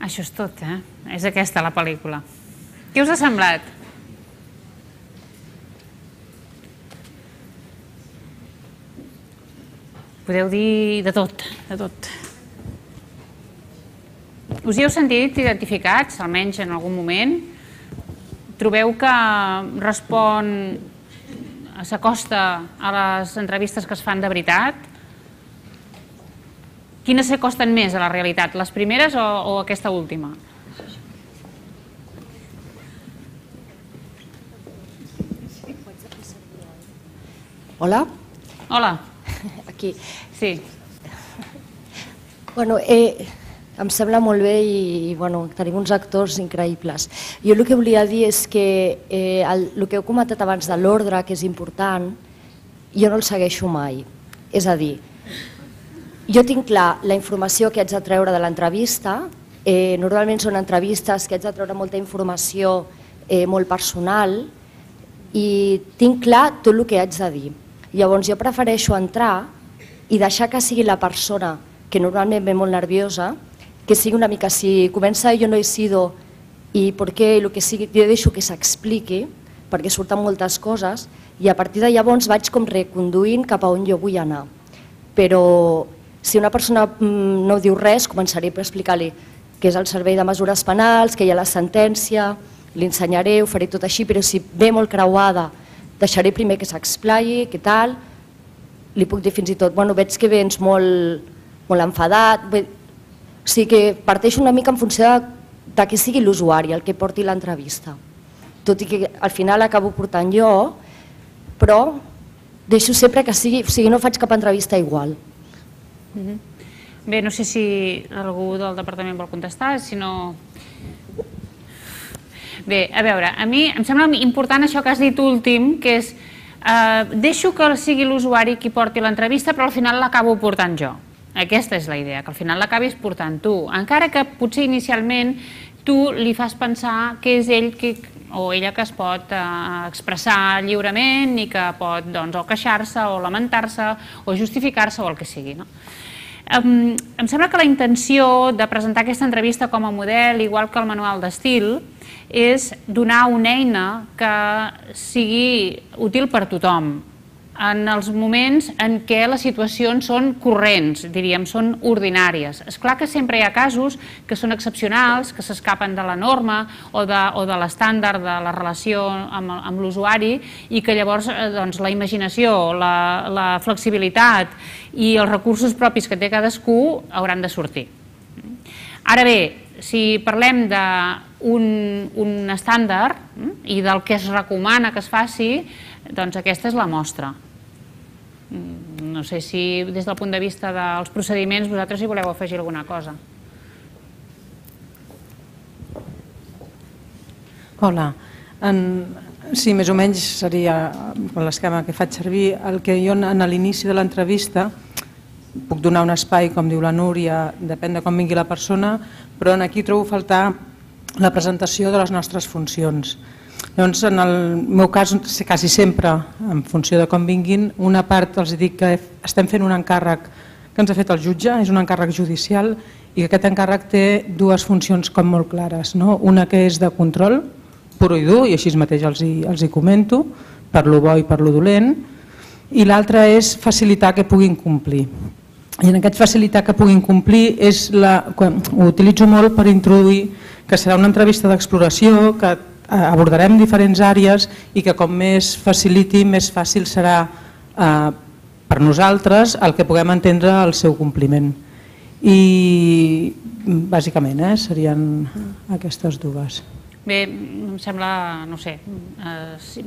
Això és tot, eh? És aquesta la pel·lícula. Què us ha semblat? Podeu dir de tot, de tot. Us hi heu sentit identificats, almenys en algun moment? Trobeu que respon, s'acosta a les entrevistes que es fan de veritat? Quines s'acosten més a la realitat, les primeres o aquesta última? Hola? Hola. Aquí. Sí. Bueno, em sembla molt bé i tenim uns actors increïbles. Jo el que volia dir és que el que heu comentat abans de l'ordre, que és important, jo no el segueixo mai. És a dir, jo tinc clar la informació que haig de treure de l'entrevista, normalment són entrevistes que haig de treure molta informació molt personal i tinc clar tot el que haig de dir. Llavors jo prefereixo entrar i deixar que sigui la persona que normalment ve molt nerviosa, que sigui una mica, si comença jo no he sido i per què, el que sigui, jo deixo que s'expliqui, perquè surten moltes coses i a partir de llavors vaig com reconduint cap a on jo vull anar. Però si una persona no diu res, començaré per explicar-li què és el servei de mesures penals, que hi ha la sentència, li ensenyaré, ho faré tot així, però si ve molt creuada, deixaré primer que s'explaiï, què tal, li puc dir fins i tot, veig que vens molt enfadat, o sigui que parteixo una mica en funció de que sigui l'usuari el que porti l'entrevista. Tot i que al final acabo portant jo, però deixo sempre que sigui, o sigui, no faig cap entrevista igual. Bé, no sé si algú del departament vol contestar, si no... Bé, a veure, a mi em sembla important això que has dit últim, que és deixo que sigui l'usuari qui porti l'entrevista, però al final l'acabo portant jo. Aquesta és la idea, que al final l'acabis portant tu. Encara que potser inicialment tu li fas pensar que és ell o ella que es pot expressar lliurement i que pot o queixar-se o lamentar-se o justificar-se o el que sigui. Em sembla que la intenció de presentar aquesta entrevista com a model, igual que el manual d'estil, és donar una eina que sigui útil per tothom en els moments en què les situacions són corrents, diríem, són ordinàries. És clar que sempre hi ha casos que són excepcionals, que s'escapen de la norma o de l'estàndard de la relació amb l'usuari i que llavors la imaginació, la flexibilitat i els recursos propis que té cadascú hauran de sortir. Ara bé, si parlem d'un estàndard i del que es recomana que es faci, doncs aquesta és la mostra. No sé si des del punt de vista dels procediments vosaltres hi voleu afegir alguna cosa. Hola. Sí, més o menys seria l'esquema que faig servir. El que jo a l'inici de l'entrevista puc donar un espai, com diu la Núria, depèn de com vingui la persona, però aquí trobo faltar la presentació de les nostres funcions. Llavors, en el meu cas, quasi sempre, en funció de com vinguin, una part els dic que estem fent un encàrrec que ens ha fet el jutge, és un encàrrec judicial i que aquest encàrrec té dues funcions com molt clares. Una que és de control, pur i dur, i així mateix els hi comento, per lo bo i per lo dolent, i l'altra és facilitar que puguin complir. I en aquest facilitar que puguin complir ho utilitzo molt per introduir que serà una entrevista d'exploració, que abordarem diferents àrees i que com més faciliti, més fàcil serà per nosaltres el que puguem entendre el seu compliment. I bàsicament serien aquestes dues. Bé, em sembla, no sé,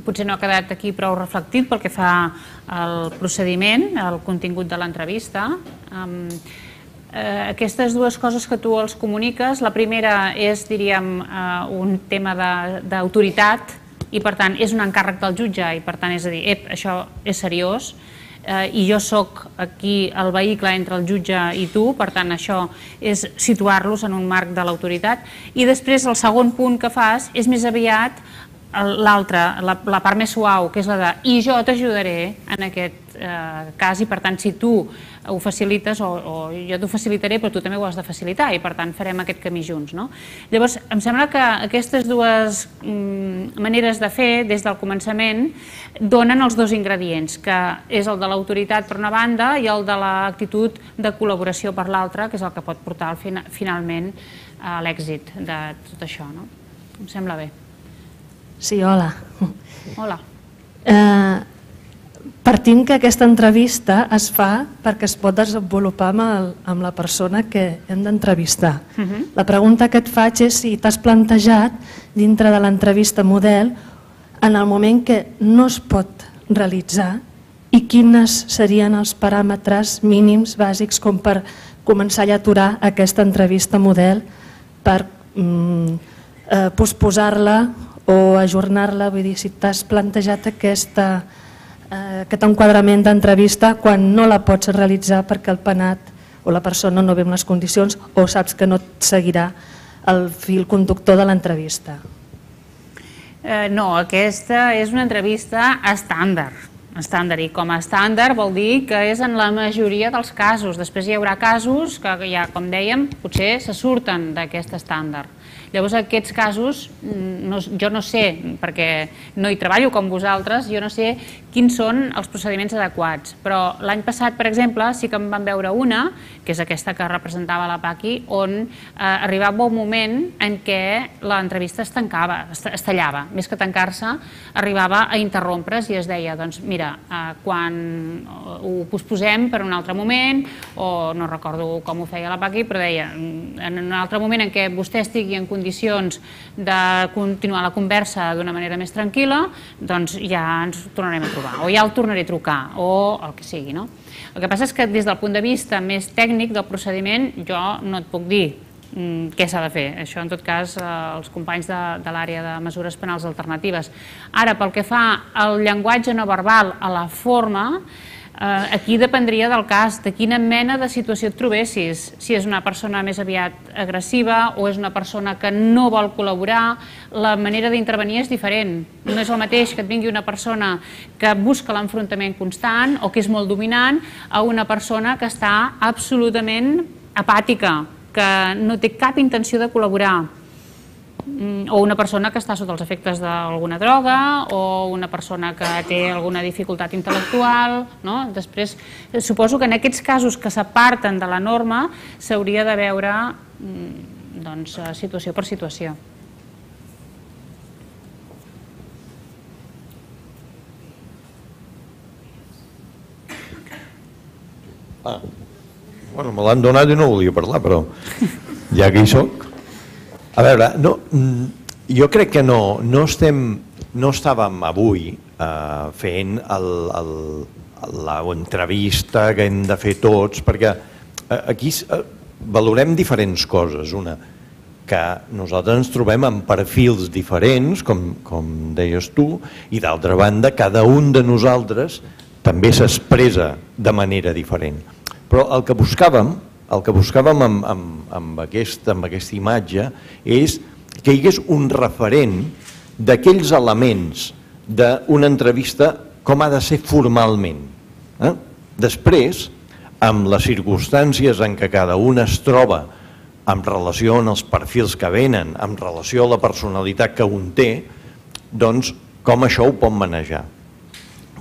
potser no ha quedat aquí prou reflectit pel que fa al procediment, al contingut de l'entrevista. Aquestes dues coses que tu els comuniques, la primera és, diríem, un tema d'autoritat i per tant és un encàrrec del jutge i per tant és a dir, això és seriós i jo soc aquí el vehicle entre el jutge i tu, per tant això és situar-los en un marc de l'autoritat. I després el segon punt que fas és més aviat l'altra, la part més suau, que és la de i jo t'ajudaré en aquest cas, i per tant si tu ho facilites o jo t'ho facilitaré però tu també ho has de facilitar i per tant farem aquest camí junts. Llavors em sembla que aquestes dues maneres de fer des del començament donen els dos ingredients, que és el de l'autoritat per una banda i el de l'actitud de col·laboració per l'altra, que és el que pot portar finalment a l'èxit de tot això. Em sembla bé. Sí, hola. Hola. Partint que aquesta entrevista es fa perquè es pot desenvolupar amb la persona que hem d'entrevistar. La pregunta que et faig és si t'has plantejat dintre de l'entrevista model en el moment que no es pot realitzar i quines serien els paràmetres mínims bàsics com per començar a aturar aquesta entrevista model per posposar-la o ajornar-la, vull dir, si t'has plantejat aquest enquadrament d'entrevista quan no la pots realitzar perquè el penat o la persona no ve en les condicions o saps que no et seguirà el fil conductor de l'entrevista. No, aquesta és una entrevista estàndard, i com a estàndard vol dir que és en la majoria dels casos. Després hi haurà casos que ja, com dèiem, potser se surten d'aquest estàndard. Llavors aquests casos, jo no sé, perquè no hi treballo com vosaltres, jo no sé quins són els procediments adequats, però l'any passat, per exemple, sí que em van veure una, que és aquesta que representava la Paqui, on arribava un moment en què l'entrevista es tallava, més que tancar-se, arribava a interrompre's i es deia, doncs mira, quan ho posposem per un altre moment, o no recordo com ho feia la Paqui, però deia, en un altre moment en què vostè estigui en condicions de continuar la conversa d'una manera més tranquil·la, doncs ja ens tornarem a trobar, o ja el tornaré a trucar, o el que sigui. El que passa és que des del punt de vista més tècnic del procediment jo no et puc dir què s'ha de fer. Això, en tot cas, els companys de l'àrea de mesures penals alternatives. Ara, pel que fa al llenguatge no verbal, a la forma, aquí dependria del cas, de quina mena de situació et trobessis, si és una persona més aviat agressiva o és una persona que no vol col·laborar, la manera d'intervenir és diferent. No és el mateix que et vingui una persona que busca l'enfrontament constant o que és molt dominant a una persona que està absolutament apàtica, que no té cap intenció de col·laborar, o una persona que està sota els efectes d'alguna droga o una persona que té alguna dificultat intel·lectual. Després, suposo que en aquests casos que s'aparten de la norma s'hauria de veure situació per situació. Bueno, me l'han donat i no volia parlar, però ja que hi soc. A veure, jo crec que no estàvem avui fent l'entrevista que hem de fer tots, perquè aquí valorem diferents coses. Una, que nosaltres ens trobem amb perfils diferents, com deies tu, i d'altra banda, cada un de nosaltres també s'expressa de manera diferent. Però el que buscàvem amb aquesta imatge és que hi hagués un referent d'aquells elements d'una entrevista com ha de ser formalment. Després, amb les circumstàncies en què cada un es troba en relació als perfils que venen, en relació a la personalitat que un té, doncs com això ho pot manejar.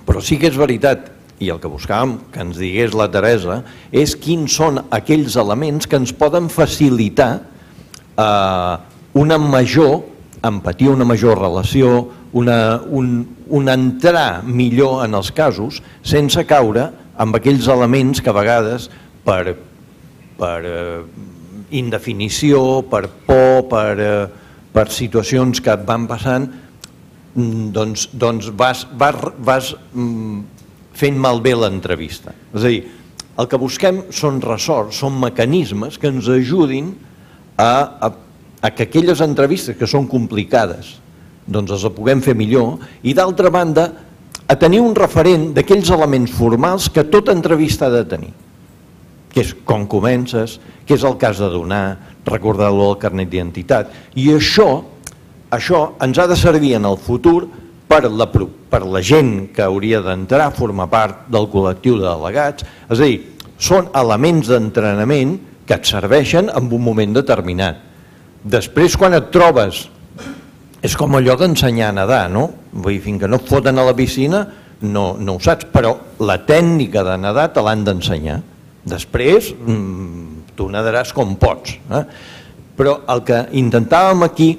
Però sí que és veritat, i el que buscàvem que ens digués la Teresa, és quins són aquells elements que ens poden facilitar una major empatia, una major relació, un entrar millor en els casos sense caure amb aquells elements que a vegades per indefinició, per por, per situacions que et van passant, doncs vas fent malbé l'entrevista. És a dir, el que busquem són ressorts, són mecanismes que ens ajudin a que aquelles entrevistes que són complicades doncs les puguem fer millor i d'altra banda a tenir un referent d'aquells elements formals que tota entrevista ha de tenir, que és com comences, què és el que has de donar, recordar-lo al carnet d'identitat, i això això ens ha de servir en el futur per la gent que hauria d'entrar a formar part del col·lectiu de delegats. És a dir, són elements d'entrenament que et serveixen en un moment determinat. Després, quan et trobes, és com allò d'ensenyar a nedar, no? Vull dir, fins que no et foten a la piscina no ho saps, però la tècnica de nedar te l'han d'ensenyar. Després, tu nedaràs com pots. Però el que intentàvem aquí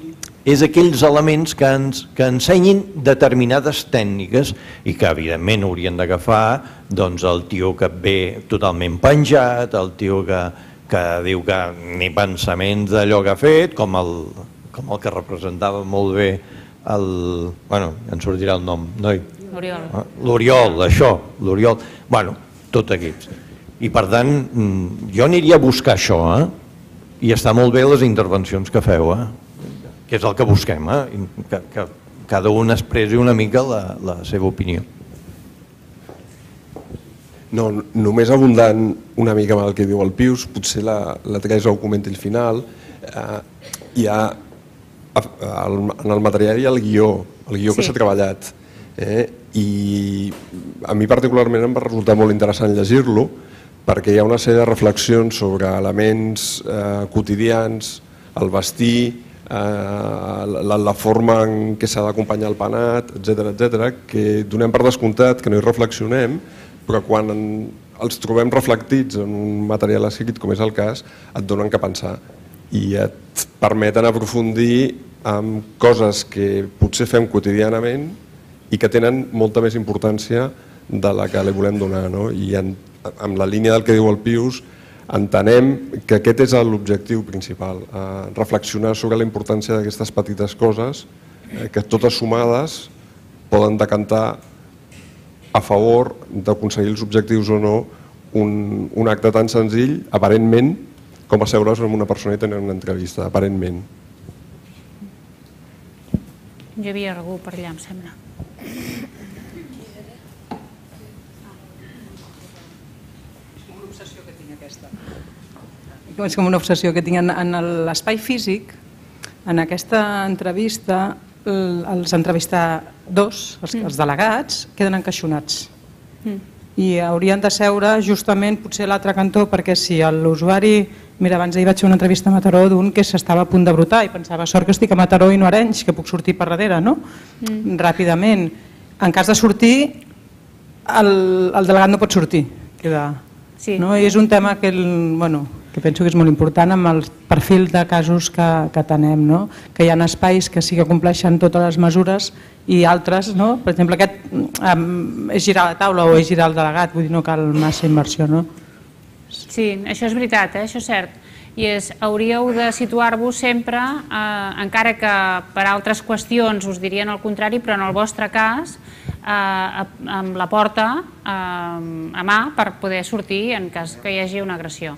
és aquells elements que ensenyin determinades tècniques i que evidentment haurien d'agafar el tio que ve totalment penjat, el tio que diu que ni pensaments d'allò que ha fet, com el que representava molt bé bueno, en sortirà el nom, noi? L'Oriol, això, l'Oriol. Bueno, tots aquests. I per tant, jo aniria a buscar això, i està molt bé les intervencions que feu, que és el que busquem, que cada un expressi una mica la seva opinió. No, només abundant una mica amb el que diu el Pius, potser la Teresa ho comenti al final, hi ha en el material hi ha el guió que s'ha treballat, i a mi particularment em va resultar molt interessant llegir-lo perquè hi ha una sèrie de reflexions sobre elements quotidians, el vestir, la forma en què s'ha d'acompanyar el penat, etc., que donem per descomptat, que no hi reflexionem, però quan els trobem reflectits en un material escrit, com és el cas, et donen que pensar i et permeten aprofundir en coses que potser fem quotidianament i que tenen molta més importància de la que li volem donar. I amb la línia del que diu el Pius, entenem que aquest és l'objectiu principal, reflexionar sobre la importància d'aquestes petites coses que totes sumades poden decantar a favor d'aconseguir els objectius o no un acte tan senzill, aparentment, com asseure's amb una persona i tenir una entrevista, aparentment. Hi havia algú per allà, em sembla. És com una obsessió que tinc en l'espai físic. En aquesta entrevista, els entrevistadors, els delegats, queden encaixonats. I haurien de seure justament potser a l'altre cantó, perquè si l'usuari... Mira, abans ahir vaig fer una entrevista a Mataró d'un que s'estava a punt de brotar i pensava, sort que estic a Mataró i no a Arenys, que puc sortir per darrere, no? Ràpidament. En cas de sortir, el delegat no pot sortir. I és un tema que penso que és molt important amb el perfil de casos que tenem, que hi ha espais que sí que compleixen totes les mesures i altres, per exemple, aquest és girar la taula o és girar el delegat, vull dir, no cal massa inversió, no? Sí, això és veritat, això és cert. I hauríeu de situar-vos sempre, encara que per altres qüestions us dirien el contrari, però en el vostre cas, amb la porta a mà per poder sortir en cas que hi hagi una agressió.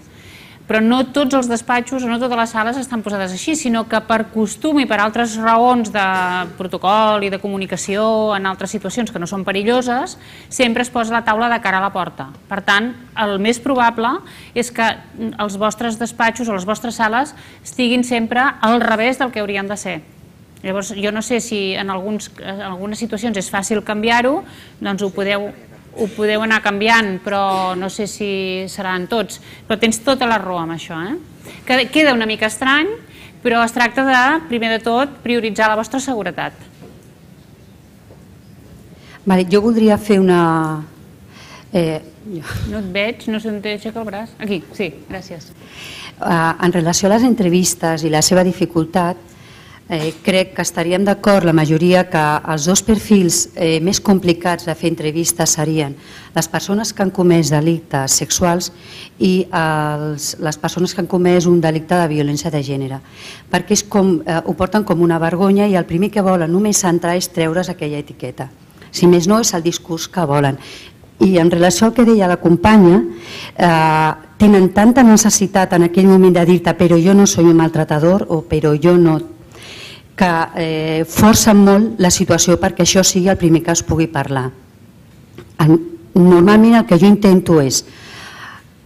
Però no tots els despatxos o no totes les sales estan posades així, sinó que per costum i per altres raons de protocol i de comunicació en altres situacions que no són perilloses, sempre es posa la taula de cara a la porta. Per tant, el més probable és que els vostres despatxos o les vostres sales estiguin sempre al revés del que haurien de ser. Llavors, jo no sé si en algunes situacions és fàcil canviar-ho, doncs ho podeu anar canviant, però no sé si seran tots. Però tens tota la raó amb això. Queda una mica estrany, però es tracta de, primer de tot, prioritzar la vostra seguretat. Jo voldria fer una... No et veig, no sé on t'aixeca el braç. Aquí, sí, gràcies. En relació a les entrevistes i la seva dificultat, crec que estaríem d'acord la majoria que els dos perfils més complicats de fer entrevistes serien les persones que han comès delictes sexuals i les persones que han comès un delicte de violència de gènere, perquè ho porten com una vergonya i el primer que volen només entrar és treure's aquella etiqueta. Si més no, és el discurs que volen. I en relació al que deia la companya, tenen tanta necessitat en aquell moment de dir-te però jo no soy un maltratador o però jo no, que forcen molt la situació perquè això sigui el primer que es pugui parlar. Normalment el que jo intento és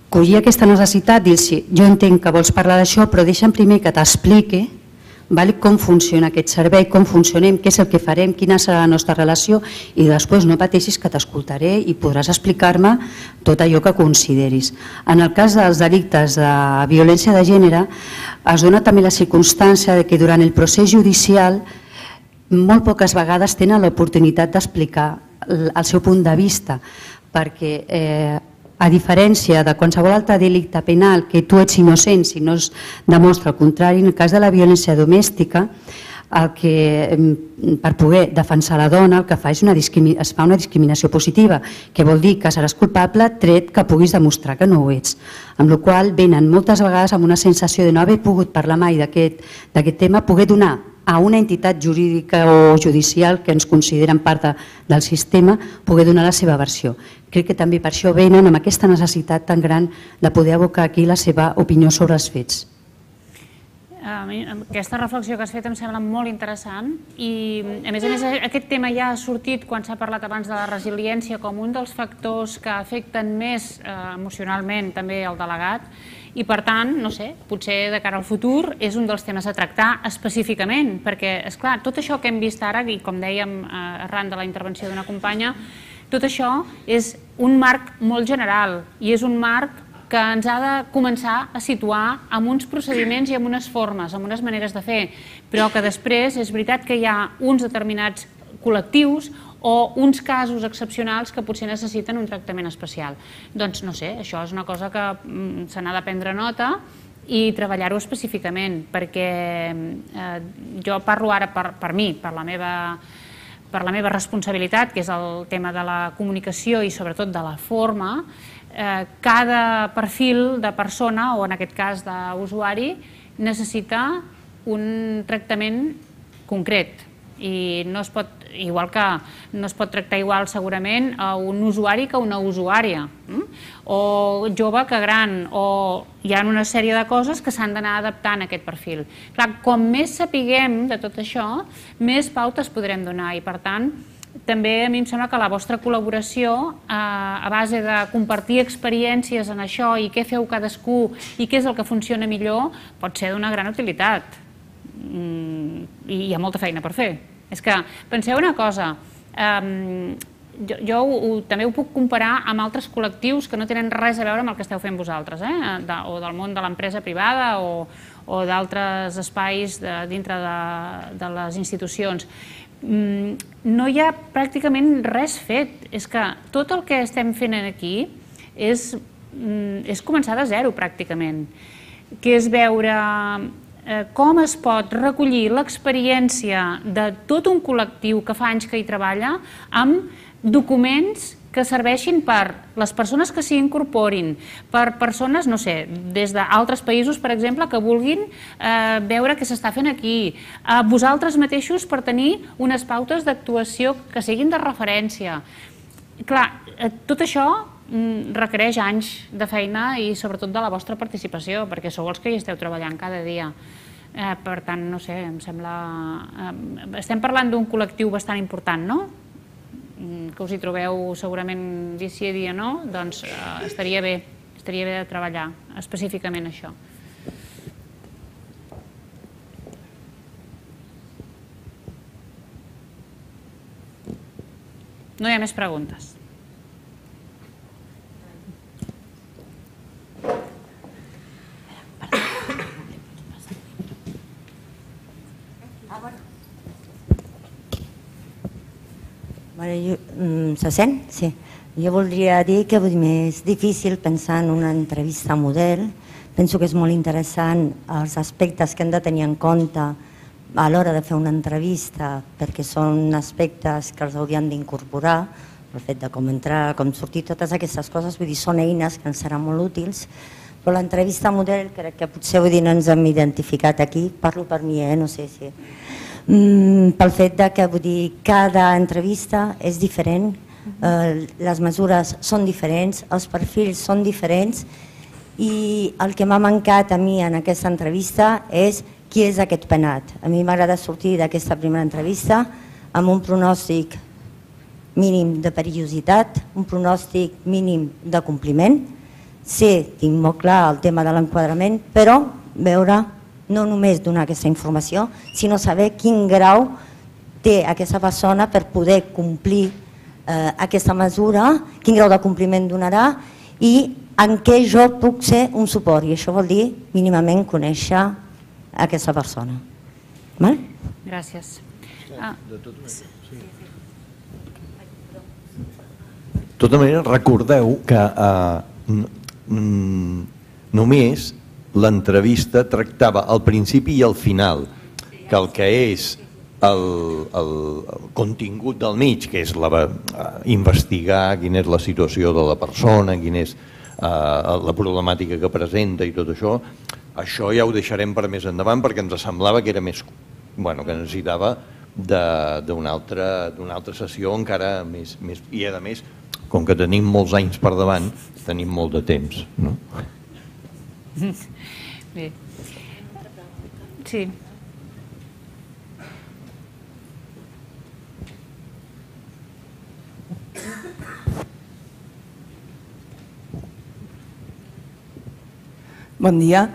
collir aquesta necessitat, dir-los jo entenc que vols parlar d'això però deixa'm primer que t'expliqui com funciona aquest servei, com funcionem, què és el que farem, quina serà la nostra relació, i després no pateixis que t'escoltaré i podràs explicar-me tot allò que consideris. En el cas dels delictes de violència de gènere es dona també la circumstància que durant el procés judicial molt poques vegades tenen l'oportunitat d'explicar el seu punt de vista, perquè a diferència de qualsevol altre delicte penal que tu ets innocent si no es demostra el contrari, en el cas de la violència domèstica, per poder defensar la dona el que fa és es fa una discriminació positiva, que vol dir que seràs culpable tret que puguis demostrar que no ho ets. Amb la qual cosa venen moltes vegades amb una sensació de no haver pogut parlar mai d'aquest tema, poder donar a una entitat jurídica o judicial que ens consideren part del sistema, poder donar la seva versió. Crec que també per això venen amb aquesta necessitat tan gran de poder abocar aquí la seva opinió sobre els fets. Aquesta reflexió que has fet em sembla molt interessant i, a més, aquest tema ja ha sortit quan s'ha parlat abans de la resiliència com un dels factors que afecten més emocionalment també el delegat i, per tant, no sé, potser de cara al futur és un dels temes a tractar específicament, perquè, esclar, tot això que hem vist ara, i com dèiem arran de la intervenció d'una companya, tot això és un marc molt general i és un marc que ens ha de començar a situar amb uns procediments i amb unes formes, amb unes maneres de fer, però que després és veritat que hi ha uns determinats col·lectius o uns casos excepcionals que potser necessiten un tractament especial. Doncs no sé, això és una cosa que se n'ha de prendre nota i treballar-ho específicament, perquè jo parlo ara per mi, per la meva responsabilitat, que és el tema de la comunicació i sobretot de la forma. Cada perfil de persona, o en aquest cas d'usuari, necessita un tractament concret i no es pot, igual que no es pot tractar igual segurament a un usuari que a una usuària, o jove que gran, o hi ha una sèrie de coses que s'han d'anar adaptant a aquest perfil. Clar, com més sapiguem de tot això, més pautes podrem donar i, per tant, també a mi em sembla que la vostra col·laboració a base de compartir experiències en això i què feu cadascú i què és el que funciona millor pot ser d'una gran utilitat i hi ha molta feina per fer. És que penseu una cosa, jo també ho puc comparar amb altres col·lectius que no tenen res a veure amb el que esteu fent vosaltres, o del món de l'empresa privada o d'altres espais dintre de les institucions. No hi ha pràcticament res fet. És que tot el que estem fent aquí és començar de zero pràcticament, que és veure com es pot recollir l'experiència de tot un col·lectiu que fa anys que hi treballa amb documents que serveixin per les persones que s'hi incorporin, per persones, no sé, des d'altres països, per exemple, que vulguin veure què s'està fent aquí, a vosaltres mateixos per tenir unes pautes d'actuació que siguin de referència. Clar, tot això requereix anys de feina i sobretot de la vostra participació, perquè sou els que hi esteu treballant cada dia. Per tant, no sé, em sembla... Estem parlant d'un col·lectiu bastant important, no? Que us hi trobeu segurament dia sí dia no, doncs estaria bé de treballar específicament això. No hi ha més preguntes. Se sent? Sí. Jo voldria dir que és difícil pensar en una entrevista model. Penso que és molt interessant els aspectes que hem de tenir en compte a l'hora de fer una entrevista, perquè són aspectes que els haurien d'incorporar, el fet de com entrar, com sortir, totes aquestes coses, vull dir, són eines que ens seran molt útils, però l'entrevista model crec que potser no ens hem identificat aquí, parlo per mi, no sé si... pel fet que vull dir, cada entrevista és diferent, les mesures són diferents, els perfils són diferents i el que m'ha mancat a mi en aquesta entrevista és qui és aquest penat. A mi m'agrada sortir d'aquesta primera entrevista amb un pronòstic mínim de perillositat, un pronòstic mínim de compliment. Sí, tinc molt clar el tema de l'enquadrament, però veure no només donar aquesta informació, sinó saber quin grau té aquesta persona per poder complir aquesta mesura, quin grau de compliment donarà i en què jo puc ser un suport. I això vol dir mínimament conèixer aquesta persona. Gràcies. De tota manera, recordeu que només l'entrevista tractava al principi i al final, que el que és el contingut del mig, que és investigar quina és la situació de la persona, quina és la problemàtica que presenta i tot això, això ja ho deixarem per més endavant perquè ens semblava que era més, que necessitava d'una altra sessió encara més, i a més, com que tenim molts anys per davant, tenim molt de temps. Bé. Sí. Bon dia.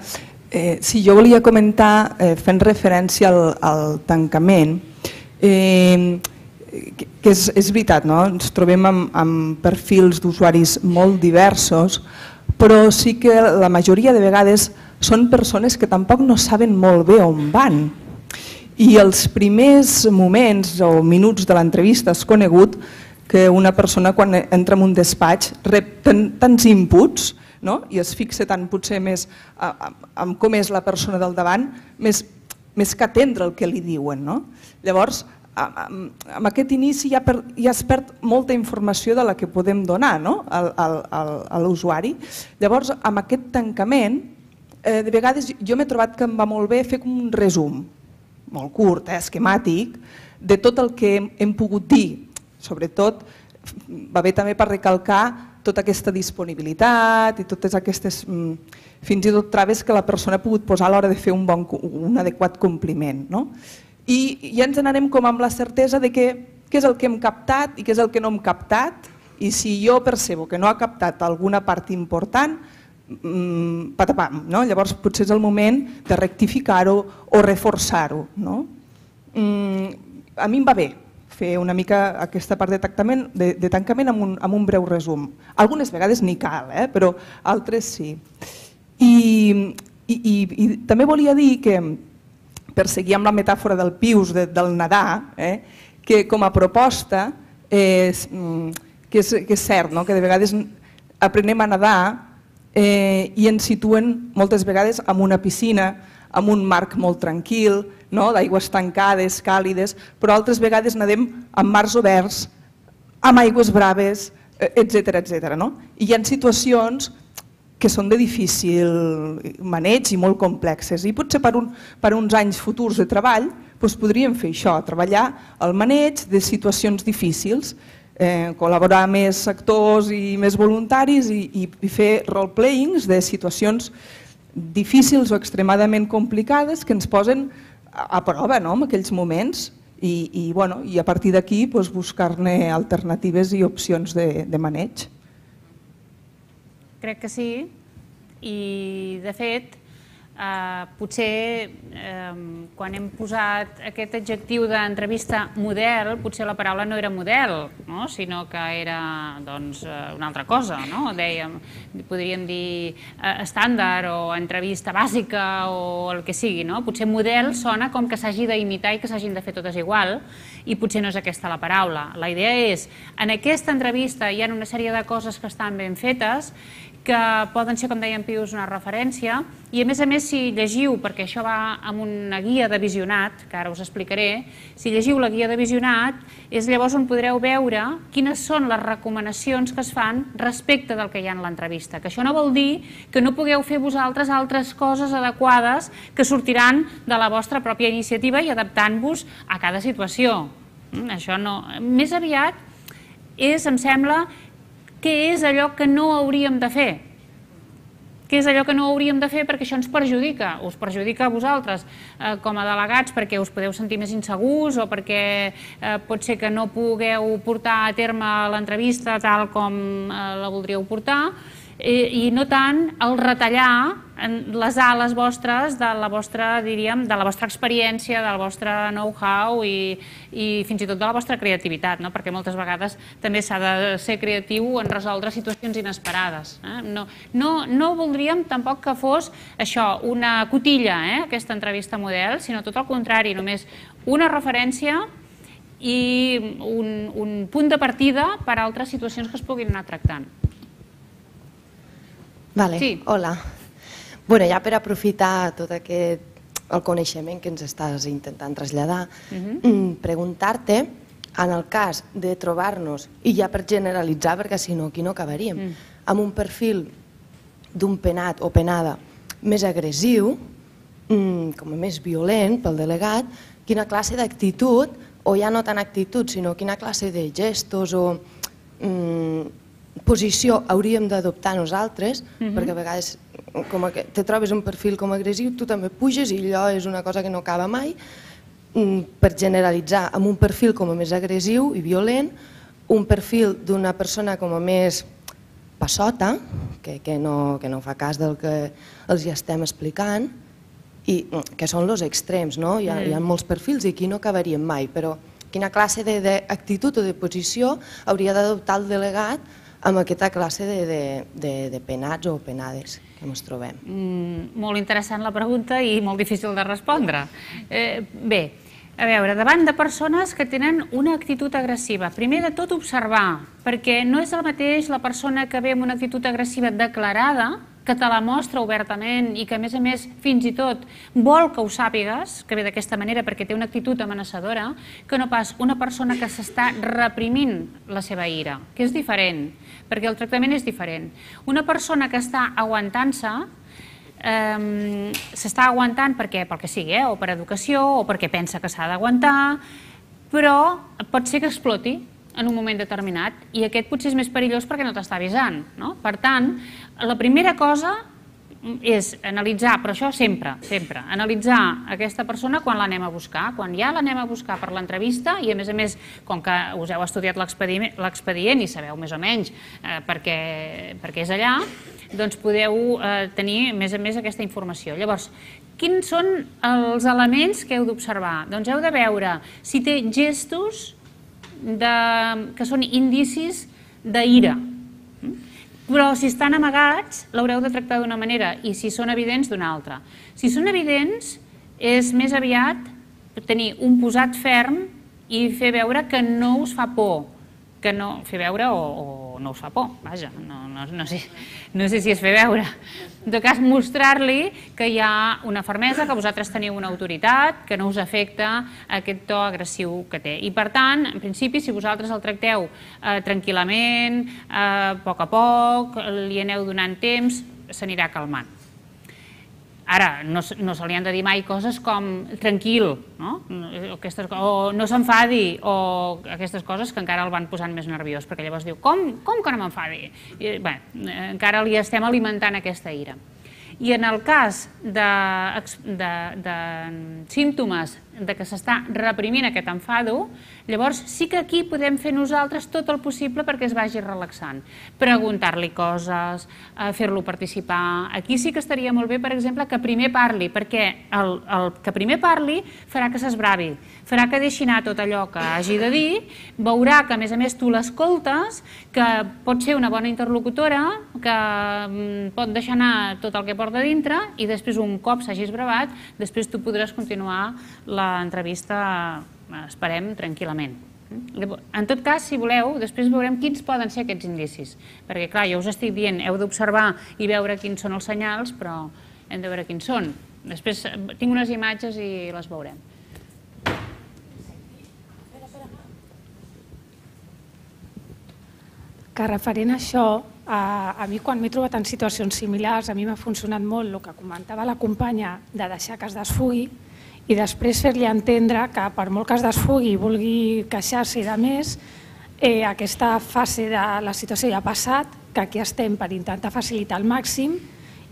Sí, jo volia comentar, fent referència al tancament, que és veritat, no? Ens trobem amb perfils d'usuaris molt diversos, però sí que la majoria de vegades són persones que tampoc no saben molt bé on van. I els primers moments o minuts de l'entrevista és conegut que una persona quan entra en un despatx rep tants inputs, no? I es fixa tant potser més en com és la persona del davant, més que atendre el que li diuen. No? Llavors, amb aquest inici ja es perd molta informació de la que podem donar a l'usuari. Llavors, amb aquest tancament, de vegades jo m'he trobat que em va molt bé fer com un resum, molt curt, esquemàtic, de tot el que hem pogut dir. Sobretot, va bé també per recalcar tota aquesta disponibilitat i totes aquestes, fins i tot traves que la persona ha pogut posar a l'hora de fer un adequat compliment. I ja ens n'anem com amb la certesa de què és el que hem captat i què és el que no hem captat, i si jo percebo que no ha captat alguna part important, patapam, llavors potser és el moment de rectificar-ho o reforçar-ho. A mi em va bé fer una mica aquesta part de tancament amb un breu resum. Algunes vegades ni cal, però altres sí. I també volia dir que, per seguir amb la metàfora del Pius, del nedar, que com a proposta, que és cert, que de vegades aprenem a nedar i ens situen moltes vegades en una piscina, amb un marc molt tranquil, d'aigües tancades, càlides, però altres vegades nedem amb mars oberts, amb aigües braves, etc. I hi ha situacions que són de difícil maneig i molt complexes. I potser per uns anys futurs de treball podríem fer això, treballar el maneig de situacions difícils, col·laborar amb més sectors i més voluntaris i fer role-playings de situacions difícils o extremadament complicades que ens posen a prova en aquells moments i a partir d'aquí buscar-ne alternatives i opcions de maneig. Crec que sí, i de fet potser quan hem posat aquest adjectiu d'entrevista model, potser la paraula no era model, sinó que era una altra cosa. Podríem dir estàndard o entrevista bàsica o el que sigui. Potser model sona com que s'hagi d'imitar i que s'hagin de fer totes igual i potser no és aquesta la paraula. La idea és, en aquesta entrevista hi ha una sèrie de coses que estan ben fetes que poden ser, com deia en Pius, una referència i a més, si llegiu, perquè això va amb una guia de visionat, que ara us explicaré, si llegiu la guia de visionat és llavors on podreu veure quines són les recomanacions que es fan respecte del que hi ha en l'entrevista, que això no vol dir que no pugueu fer vosaltres altres coses adequades que sortiran de la vostra pròpia iniciativa i adaptant-vos a cada situació. Això no, més aviat és, em sembla, què és allò que no hauríem de fer? Què és allò que no hauríem de fer perquè això ens perjudica? Us perjudica a vosaltres com a delegats perquè us podeu sentir més insegurs o perquè pot ser que no pugueu portar a terme l'entrevista tal com la voldríeu portar. i no tant el retallar les ales vostres de la vostra, diríem, de la vostra experiència, del vostre know-how i fins i tot de la vostra creativitat, perquè moltes vegades també s'ha de ser creatiu en resoldre situacions inesperades. No voldríem tampoc que fos això, una cotilla, aquesta entrevista model, sinó tot el contrari, només una referència i un punt de partida per a altres situacions que es puguin anar tractant. Hola. Bueno, ja per aprofitar tot el coneixement que ens estàs intentant traslladar, preguntar-te, en el cas de trobar-nos, i ja per generalitzar, perquè si no aquí no acabaríem, amb un perfil d'un penat o penada més agressiu, com a més violent pel delegat, quina classe d'actitud, o ja no tant actitud, sinó quina classe de gestos o posició hauríem d'adoptar nosaltres, perquè a vegades com que te trobes un perfil com agressiu, tu també puges i allò és una cosa que no acaba mai. Per generalitzar, amb un perfil com a més agressiu i violent, un perfil d'una persona com a més passota, que no fa cas del que els estem explicant, i que són els extrems, no? Hi ha molts perfils i aquí no acabaríem mai, però quina classe d'actitud o de posició hauria d'adoptar el delegat amb aquesta classe de penats o penades que ens trobem? Molt interessant la pregunta i molt difícil de respondre. Bé, a veure, davant de persones que tenen una actitud agressiva, primer de tot observar, perquè no és el mateix la persona que ve amb una actitud agressiva declarada, que te la mostra obertament i que a més fins i tot vol que ho sàpigues, que ve d'aquesta manera perquè té una actitud amenaçadora, que no pas una persona que s'està reprimint la seva ira, que és diferent, perquè el tractament és diferent. Una persona que està aguantant-se, s'està aguantant perquè pel que sigui, o per educació, o perquè pensa que s'ha d'aguantar, però pot ser que exploti en un moment determinat, i aquest potser és més perillós perquè no t'està avisant. Per tant, la primera cosa és analitzar, però això sempre, analitzar aquesta persona quan l'anem a buscar, quan ja l'anem a buscar per l'entrevista, i a més, com que us heu estudiat l'expedient i sabeu més o menys per què és allà, doncs podeu tenir més a més aquesta informació. Llavors, quins són els elements que heu d'observar? Doncs heu de veure si té gestos que són indicis d'ira. Però si estan amagats, l'haureu de tractar d'una manera, i si són evidents, d'una altra. Si són evidents, és més aviat tenir un posat ferm i fer veure que no us fa por, que no fer veure o no us fa por, vaja, no sé si és fer veure. En tot cas, mostrar-li que hi ha una fermesa, que vosaltres teniu una autoritat, que no us afecta aquest to agressiu que té. I per tant, en principi, si vosaltres el tracteu tranquil·lament, a poc, li aneu donant temps, s'anirà calmant. Ara, no se li han de dir mai coses com tranquil, o no s'enfadi, o aquestes coses que encara el van posant més nerviós, perquè llavors diu, com que no m'enfadi? Encara li estem alimentant aquesta ira. I en el cas de símptomes de que s'està reprimint aquest enfado, llavors sí que aquí podem fer nosaltres tot el possible perquè es vagi relaxant. Preguntar-li coses, fer-lo participar. Aquí sí que estaria molt bé, per exemple, que primer parli, perquè el que primer parli farà que s'esbravi, farà que deixi anar tot allò que hagi de dir, veurà que a més tu l'escoltes, que pot ser una bona interlocutora, que pot deixar anar tot el que porta dintre i després un cop s'hagi esbravat, després tu podràs continuar l'entrevista, esperem, tranquil·lament. En tot cas, si voleu, després veurem quins poden ser aquests indicis, perquè clar, jo us estic dient, heu d'observar i veure quins són els senyals, però hem de veure quins són. Després tinc unes imatges i les veurem. Que referent a això, a mi quan m'he trobat en situacions similars, a mi m'ha funcionat molt el que comentava la companya de deixar que es desfugui i després fer-li entendre que per molt que es desfugui i vulgui queixar-se i de més, aquesta fase de la situació ja ha passat, que aquí estem per intentar facilitar al màxim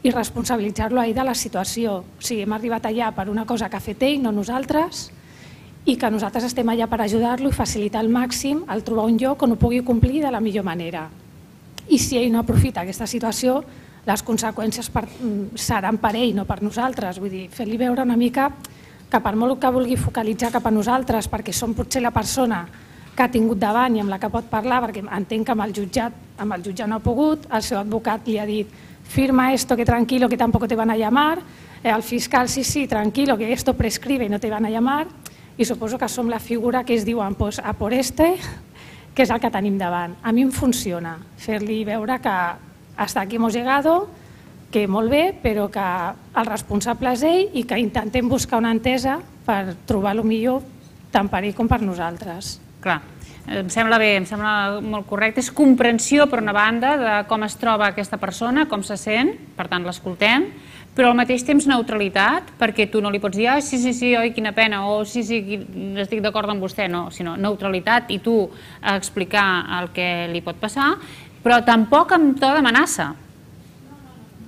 i responsabilitzar-lo a ell de la situació. O sigui, hem arribat allà per una cosa que ha fet ell, no nosaltres, i que nosaltres estem allà per ajudar-lo i facilitar al màxim el trobar un lloc on ho pugui complir de la millor manera. i si ell no aprofita aquesta situació, les conseqüències seran per ell, no per nosaltres. Vull dir, fer-li veure una mica que per molt que vulgui focalitzar cap a nosaltres, perquè som potser la persona que ha tingut davant i amb la que pot parlar, perquè entenc que amb el jutjat no ha pogut, el seu advocat li ha dit firma esto que tranquilo que tampoco te van a llamar, el fiscal sí, tranquilo que esto prescribe y no te van a llamar, i suposo que som la figura que es diuen pues, a por este, que és el que tenim davant. A mi em funciona fer-li veure que hasta aquí hemos llegado, que molt bé, però que el responsable és ell i que intentem buscar una entesa per trobar el millor tant per ell com per nosaltres. Clar, em sembla bé, em sembla molt correcte. És comprensió, per una banda, de com es troba aquesta persona, com se sent, per tant l'escoltem, però al mateix temps neutralitat, perquè tu no li pots dir sí, oi, quina pena, o sí, estic d'acord amb vostè, no, sinó neutralitat i tu explicar el que li pot passar, però tampoc amb to d'amenaça,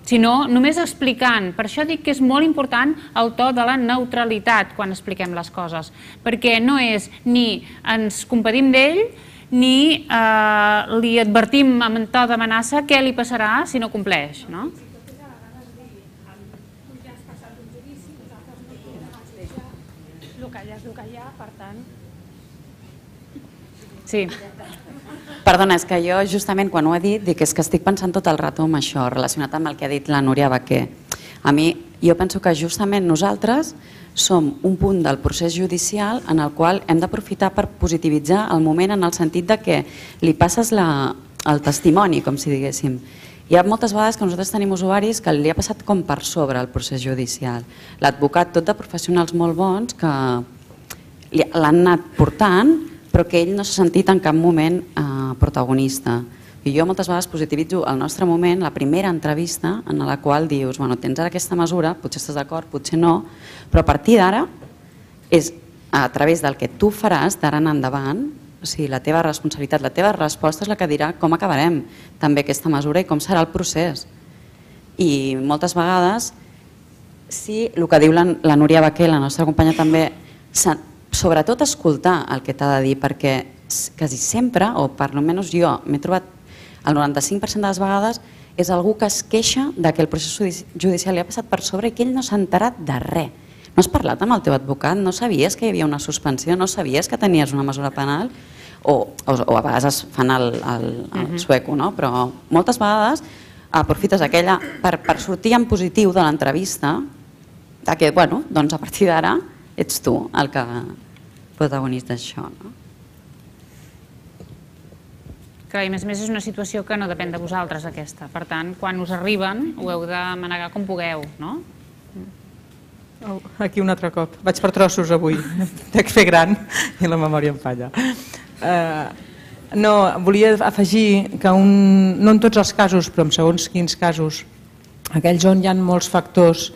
sinó només explicant. Per això dic que és molt important el to de la neutralitat quan expliquem les coses, perquè no és ni ens compadim d'ell ni li advertim amb to d'amenaça què li passarà si no compleix, no? El que hi ha, per tant... Sí. Perdona, és que jo justament quan ho he dit dic és que estic pensant tot el rato en això relacionat amb el que ha dit la Núria Baquer. A mi, jo penso que justament nosaltres som un punt del procés judicial en el qual hem d'aprofitar per positivitzar el moment en el sentit de que li passes el testimoni, com si diguéssim. Hi ha moltes vegades que nosaltres tenim usuaris que li ha passat com per sobre el procés judicial. L'advocat, tot de professionals molt bons que l'han anat portant, però que ell no s'ha sentit en cap moment protagonista. I jo moltes vegades positivitzo el nostre moment, la primera entrevista en la qual dius, bueno, tens ara aquesta mesura, potser estàs d'acord, potser no, però a partir d'ara és a través del que tu faràs d'ara en endavant, o sigui, la teva responsabilitat, la teva resposta és la que dirà com acabarem també aquesta mesura i com serà el procés. I moltes vegades, sí, el que diu la Núria Baquer, la nostra companya també, sobretot escoltar el que t'ha de dir, perquè quasi sempre, o per almenys jo m'he trobat el 95% de les vegades, és algú que es queixa que el procés judicial li ha passat per sobre i que ell no s'ha enterat de res. No has parlat amb el teu advocat? No sabies que hi havia una suspensió? No sabies que tenies una mesura penal? O a vegades es fan el sueco, no? Però moltes vegades aprofites aquella per sortir en positiu de l'entrevista, que, bueno, doncs a partir d'ara ets tu el que protagonista d'això, no? Clar, i a més és una situació que no depèn de vosaltres, aquesta. Per tant, quan us arriben, ho heu de manegar com pugueu, no? Aquí un altre cop. Vaig per trossos avui. Dec fer gran i la memòria em falla. No, volia afegir que no en tots els casos, però en segons quins casos, aquells on hi ha molts factors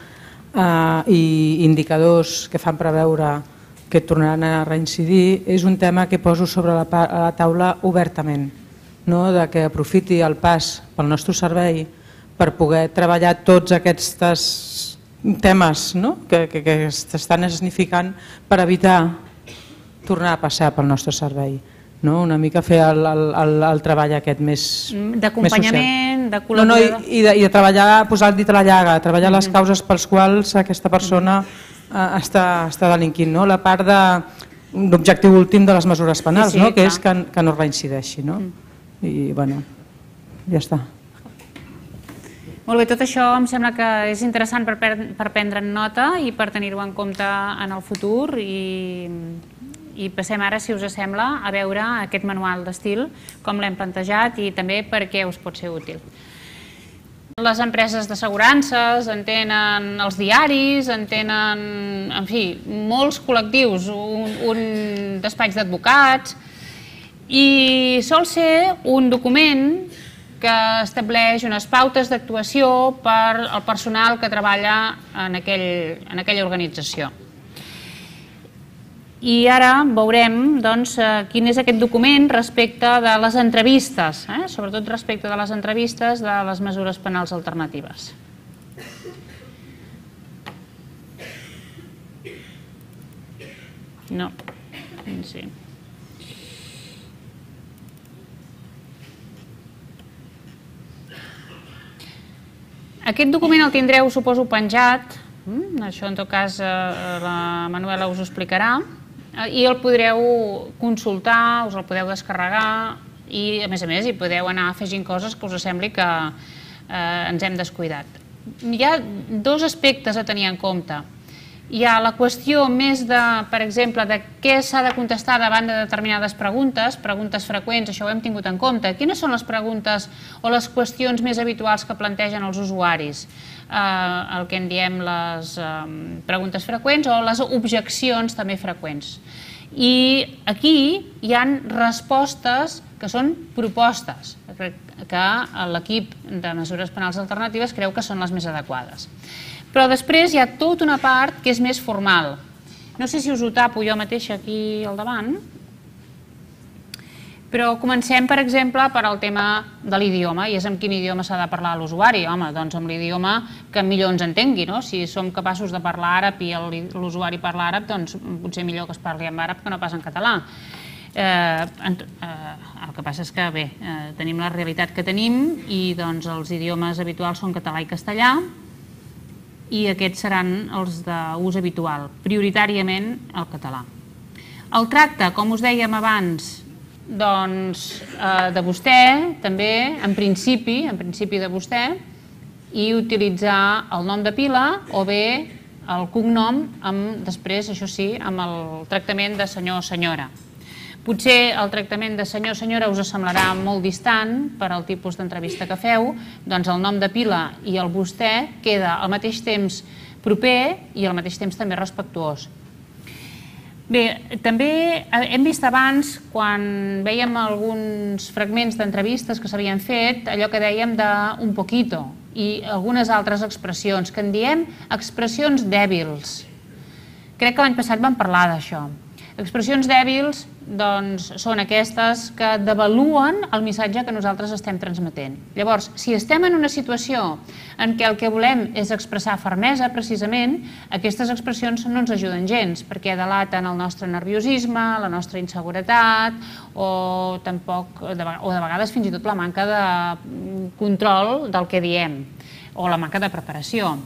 i indicadors que fan preveure que tornaran a reincidir, és un tema que poso sobre la taula obertament, de que aprofiti el pas pel nostre servei per poder treballar tots aquests temes que s'estan escenificant per evitar tornar a passar pel nostre servei. Una mica fer el treball aquest més d'acompanyament, de col·laborador. I de treballar, posar-li a la llaga, treballar les causes pels quals aquesta persona està delinquint. La part d'objectiu últim de les mesures penals, que és que no reincideixi. I, bueno, ja està. Molt bé, tot això em sembla que és interessant per prendre'n nota i per tenir-ho en compte en el futur i passem ara, si us sembla, a veure aquest manual d'estil, com l'hem plantejat i també per què us pot ser útil. Les empreses d'assegurances en tenen els diaris, en tenen, en fi, molts col·lectius, un despatx d'advocats i sol ser un document que estableix unes pautes d'actuació per al personal que treballa en aquella organització. I ara veurem quin és aquest document respecte de les entrevistes, sobretot respecte de les entrevistes de les mesures penals alternatives. No, sí. Aquest document el tindreu, suposo, penjat, això en tot cas la Manuela us ho explicarà, i el podreu consultar, us el podeu descarregar i, a més, hi podeu anar afegint coses que us sembli que ens hem descuidat. Hi ha dos aspectes a tenir en compte. Hi ha la qüestió més de, per exemple, de què s'ha de contestar davant de determinades preguntes, preguntes freqüents, això ho hem tingut en compte. Quines són les preguntes o les qüestions més habituals que plantegen els usuaris? El que en diem les preguntes freqüents o les objeccions també freqüents. I aquí hi ha respostes que són propostes, que l'equip de mesures penals alternatives creu que són les més adequades. Però després hi ha tota una part que és més formal. No sé si us ho tapo jo mateixa aquí al davant, però comencem, per exemple, per al tema de l'idioma, i és en quin idioma s'ha de parlar a l'usuari. Home, doncs amb l'idioma que millor ens entengui, no? Si som capaços de parlar àrab i l'usuari parla àrab, doncs potser millor que es parli en àrab que no pas en català. El que passa és que, bé, tenim la realitat que tenim i doncs els idiomes habituals són català i castellà, i aquests seran els d'ús habitual, prioritàriament el català. El tracte, com us dèiem abans, doncs de vostè, també, en principi de vostè, i utilitzar el nom de pila o bé el cognom, després, això sí, amb el tractament de senyor o senyora. Potser el tractament de senyor o senyora us semblarà molt distant per al tipus d'entrevista que feu, doncs el nom de pila i el vostè queda al mateix temps proper i al mateix temps també respectuós. Bé, també hem vist abans, quan vèiem alguns fragments d'entrevistes que s'havien fet, allò que dèiem d'un poquito i algunes altres expressions, que en diem expressions dèbils. Crec que l'any passat vam parlar d'això. Expressions dèbils són aquestes que devaluen el missatge que nosaltres estem transmetent. Llavors, si estem en una situació en què el que volem és expressar fermesa, precisament, aquestes expressions no ens ajuden gens, perquè delaten el nostre nerviosisme, la nostra inseguretat o de vegades fins i tot la manca de control del que diem o la manca de preparació.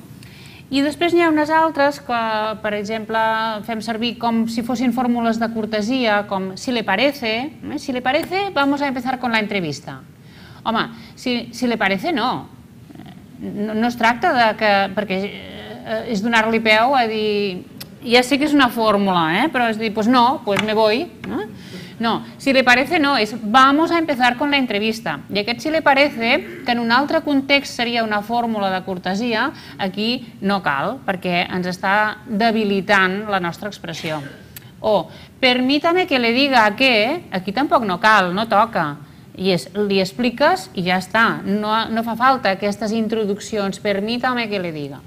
I després n'hi ha unes altres que, per exemple, fem servir com si fossin fórmules de cortesia, com si le parece, vamos a empezar con la entrevista. Home, si le parece, no. No es tracta de que, perquè és donar-li peu a dir, ja sé que és una fórmula, però és dir, pues no, pues me voy. No, si le parece no, és vamos a empezar con la entrevista. I aquest si le parece, que en un altre context seria una fórmula de cortesia, aquí no cal, perquè ens està debilitant la nostra expressió. O, permítame que le diga que, aquí tampoc no cal, no toca. I li expliques i ja està. No fa falta aquestes introduccions, permítame que le diga.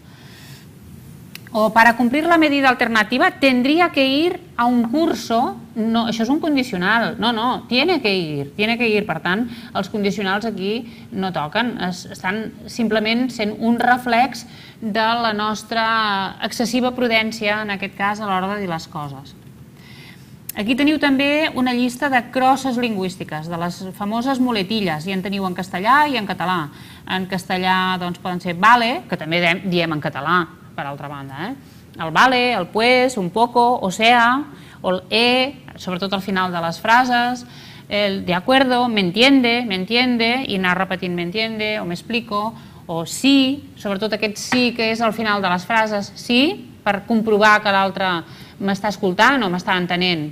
O para cumplir la medida alternativa tendría que ir a un curso. No, això és un condicional. No, tiene que ir. Per tant, els condicionals aquí no toquen. Estan simplement sent un reflex de la nostra excessiva prudència, en aquest cas, a l'hora de dir les coses. Aquí teniu també una llista de crosses lingüístiques, de les famoses muletilles, i en teniu en castellà i en català. En castellà poden ser vale, que també diem en català, per altra banda. El vale, el pues, un poco, o sea, o el sobretot al final de les frases, el de acuerdo, me entiende, i anar repetint me entiende, o me explico, o sí, sobretot aquest sí que és al final de les frases, sí, per comprovar que l'altre m'està escoltant o m'està entenent.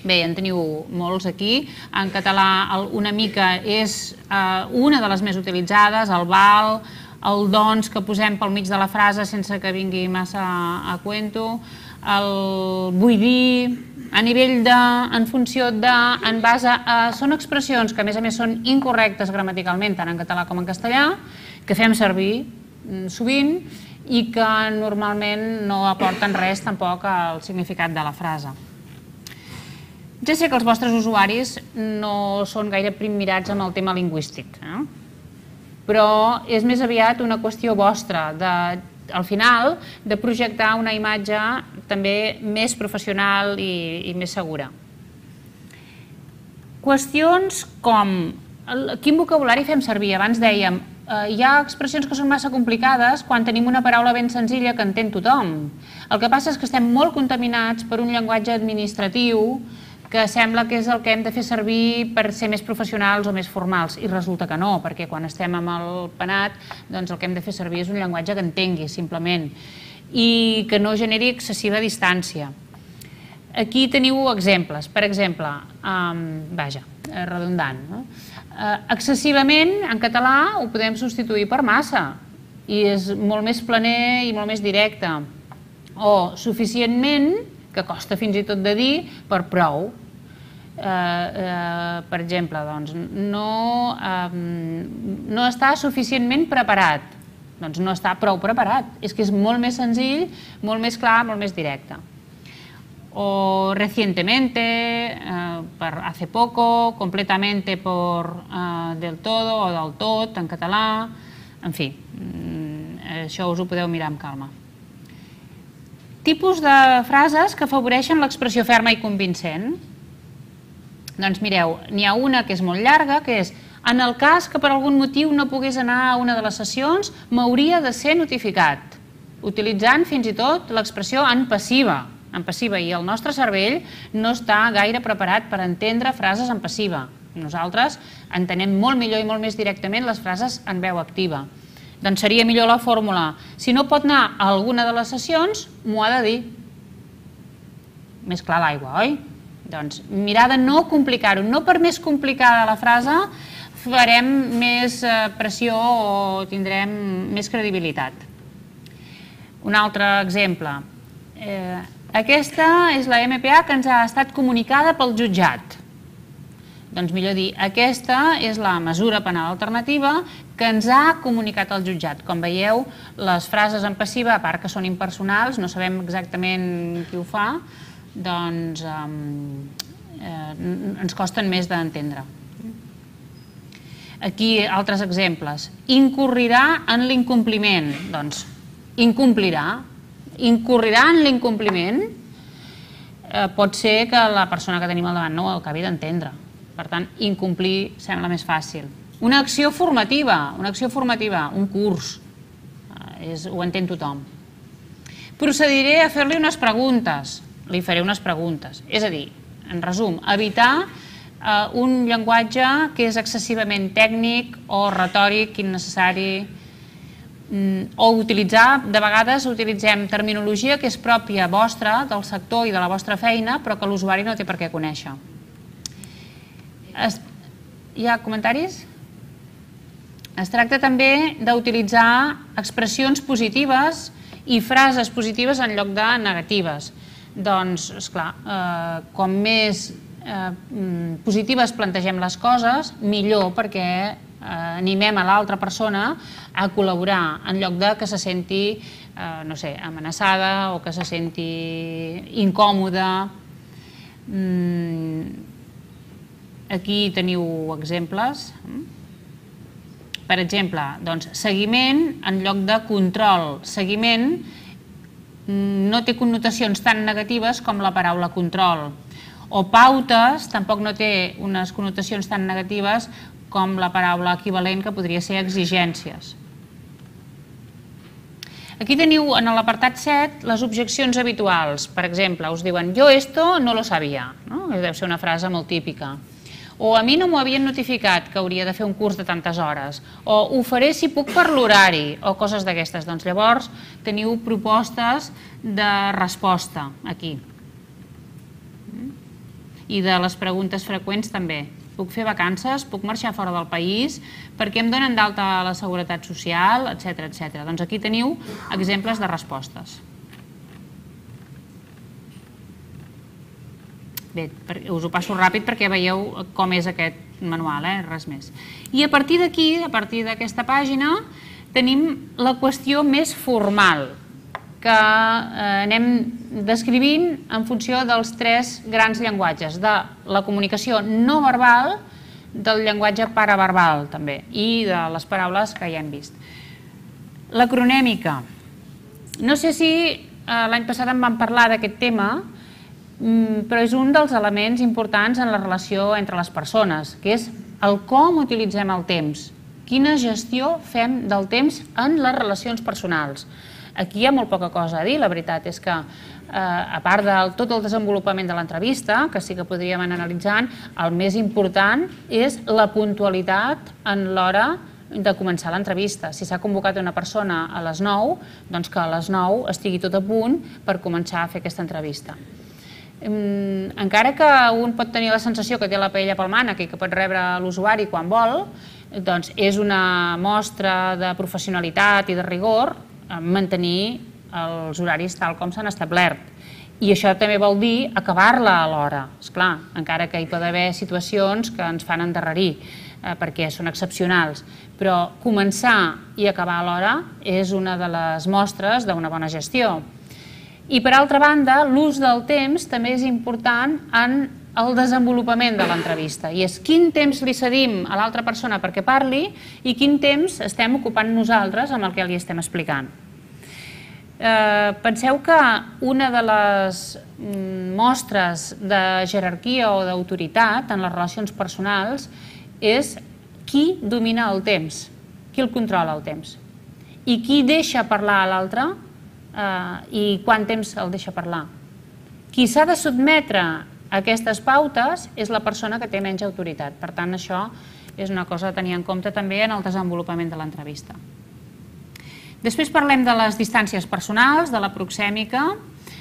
Bé, en teniu molts aquí. En català una mica és una de les més utilitzades, el val, el doncs que posem pel mig de la frase sense que vingui massa a cuento, el vull dir, a nivell de, en funció de, en base a... Són expressions que a més són incorrectes gramaticalment, tant en català com en castellà, que fem servir sovint i que normalment no aporten res tampoc al significat de la frase. Ja sé que els vostres usuaris no són gaire primmirats amb el tema lingüístic, però és més aviat una qüestió vostra, al final, de projectar una imatge també més professional i més segura. Qüestions com quin vocabulari fem servir? Abans dèiem hi ha expressions que són massa complicades quan tenim una paraula ben senzilla que entén tothom. El que passa és que estem molt contaminats per un llenguatge administratiu que sembla que és el que hem de fer servir per ser més professionals o més formals, i resulta que no, perquè quan estem amb el penat, doncs el que hem de fer servir és un llenguatge que entengui, simplement, i que no generi excessiva distància. Aquí teniu exemples. Per exemple, redundant, excessivament, en català, ho podem substituir per massa, i és molt més planer i molt més directe. O suficientment, que costa fins i tot de dir, per prou. Per exemple, no està suficientment preparat. Doncs no està prou preparat. És que és molt més senzill, molt més clar, molt més directe. O recientemente, per hace poco, completamente por del todo o del tot, en català. En fi, això us ho podeu mirar amb calma. Tipus de frases que afavoreixen l'expressió ferma i convincent. Doncs mireu, n'hi ha una que és molt llarga, que és: en el cas que per algun motiu no pogués anar a una de les sessions, m'hauria de ser notificat, utilitzant fins i tot l'expressió en passiva, i el nostre cervell no està gaire preparat per entendre frases en passiva. Nosaltres entenem molt millor i molt més directament les frases en veu activa. Doncs seria millor la fórmula: si no pot anar a alguna de les sessions, m'ho ha de dir. Més clar l'aigua, oi? Doncs mirar de no complicar-ho. No per més complicada la frase farem més pressió o tindrem més credibilitat. Un altre exemple. Aquesta és la MPA que ens ha estat comunicada pel jutjat. Doncs millor dir, aquesta és la mesura penal alternativa que ens ha comunicat el jutjat. Com veieu, les frases en passiva, a part que són impersonals, no sabem exactament qui ho fa, doncs ens costen més d'entendre. Aquí altres exemples. Incorrirà en l'incompliment. Doncs incomplirà. Incorrirà en l'incompliment. Pot ser que la persona que tenim al davant no ho acabi d'entendre. Per tant, incomplir sembla més fàcil. Una acció formativa, un curs, ho entén tothom. Procediré a fer-li unes preguntes, li faré unes preguntes. És a dir, en resum, evitar un llenguatge que és excessivament tècnic o retòric, innecessari, o utilitzar, de vegades utilitzem terminologia que és pròpia vostra, del sector i de la vostra feina, però que l'usuari no té per què conèixer. Hi ha comentaris? Es tracta també d'utilitzar expressions positives i frases positives en lloc de negatives. Doncs, esclar, com més positives plantegem les coses, millor, perquè animem a l'altra persona a col·laborar, en lloc de que se senti, no sé, amenaçada o que se senti incòmoda. Aquí teniu exemples. Per exemple, seguiment en lloc de control. Seguiment no té connotacions tan negatives com la paraula control. O pautes tampoc no té unes connotacions tan negatives com la paraula equivalent, que podria ser exigències. Aquí teniu en l'apartat 7 les objeccions habituals. Per exemple, us diuen: yo esto no lo sabía. Deu ser una frase molt típica. O a mi no m'ho havien notificat que hauria de fer un curs de tantes hores. O ho faré si puc per l'horari, o coses d'aquestes. Doncs llavors teniu propostes de resposta aquí. I de les preguntes freqüents també. Puc fer vacances? Puc marxar fora del país? Per què em donen d'alta a la Seguretat Social? Etcètera. Doncs aquí teniu exemples de respostes. Bé, us ho passo ràpid perquè veieu com és aquest manual, res més. I a partir d'aquí, a partir d'aquesta pàgina, tenim la qüestió més formal, que anem descrivint en funció dels 3 grans llenguatges, de la comunicació no verbal, del llenguatge paraverbal també, i de les paraules que ja hem vist. L'acronèmica. No sé si l'any passat en vam parlar d'aquest tema, però és un dels elements importants en la relació entre les persones, que és el com utilitzem el temps. quina gestió fem del temps en les relacions personals. Aquí hi ha molt poca cosa a dir, la veritat és que a part de tot el desenvolupament de l'entrevista, que sí que podríem anar analitzant, el més important és la puntualitat en l'hora de començar l'entrevista. Si s'ha convocat una persona a les 9, doncs que a les 9 estigui tot a punt per començar a fer aquesta entrevista. Encara que un pot tenir la sensació que té la paella pel mànec i que pot rebre l'usuari quan vol, doncs és una mostra de professionalitat i de rigor mantenir els horaris tal com s'han establert. I això també vol dir acabar-la a l'hora, esclar, encara que hi pot haver situacions que ens fan endarrerir, perquè són excepcionals. Però començar i acabar a l'hora és una de les mostres d'una bona gestió. I per altra banda, l'ús del temps també és important en el desenvolupament de l'entrevista, i és quin temps li cedim a l'altra persona perquè parli i quin temps estem ocupant nosaltres amb el que li estem explicant. Penseu que una de les mostres de jerarquia o d'autoritat en les relacions personals és qui domina el temps, qui el controla el temps, i qui deixa parlar a l'altre i quant temps el deixa parlar. Qui s'ha de sotmetre a aquestes pautes és la persona que té menys autoritat. Per tant, això és una cosa a tenir en compte també en el desenvolupament de l'entrevista. Després parlem de les distàncies personals, de la proxèmica,